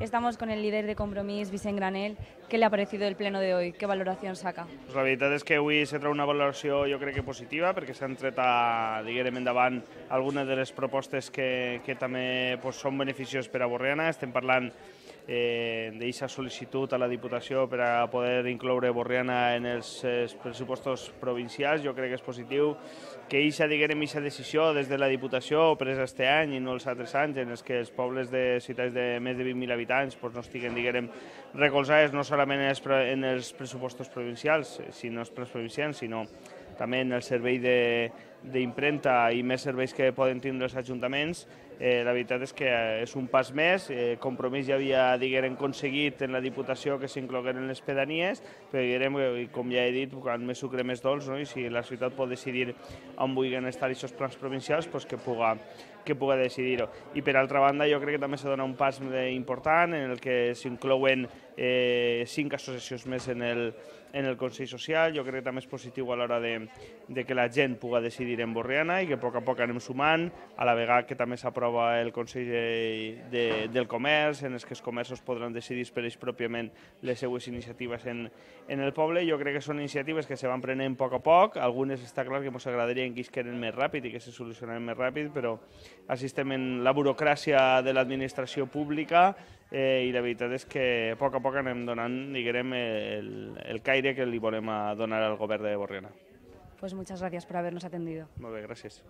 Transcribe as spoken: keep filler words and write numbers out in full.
Estamos con el líder de Compromís, Vicent Granell. ¿Qué le ha parecido el pleno de hoy? ¿Qué valoración saca? Pues la veritat és que avui s'ha tret una valoració jo crec que positiva, perquè s'han tret a, diguem, endavant algunes de les propostes que, que també pues, són beneficioses per a Borriana. Estem parlant eh, d'aquesta sol·licitud a la Diputació per a poder incloure Borriana en els, els pressupostos provincials. Jo crec que és positiu que aquesta, diguem, aquesta decisió des de la Diputació presa este any i no els altres anys en els que els pobles de ciutats de més de vint mil habitants pues, no estiguen, diguem, recolzades no solament en els, en els pressupostos provincials, sinó els plans provincials, sinó també en el servei d'impremta i més serveis que poden tindre els ajuntaments. Eh, la veritat és que és un pas més. Eh, Compromís ja havia, diguem, aconseguit en la Diputació que s'inclogueren les pedanies, però diguem, com ja he dit, quan més sucre més dolç, no? I si la ciutat pot decidir on vulguin estar aquests plans provincials, pues que puga que puga decidir-ho. I per altra banda, jo crec que també s'ha donat un pas important en el que s'inclouen eh, cinc associacions més en el, en el Consell Social. Jo crec que també és positiu a l'hora de, de que la gent puga decidir en Borriana i que a poc a poc anem sumant, a la vegada que també s'aprova el Consell de, de, del Comerç, en els que els comerços podran decidir per ells pròpiament les seues iniciatives en, en el poble. Jo crec que són iniciatives que se van prenent a poc a poc. Algunes està clar que ens agradaria que isqueren més ràpid i que se solucionaran més ràpid, però així estem en la burocràcia de l'administració pública eh, i la veritat és que a poc a poc anem donant, diguem, el, el caire que li volem donar al govern de Borriana. Pues muchas gracias por habernos atendido. Molt bé, gràcies.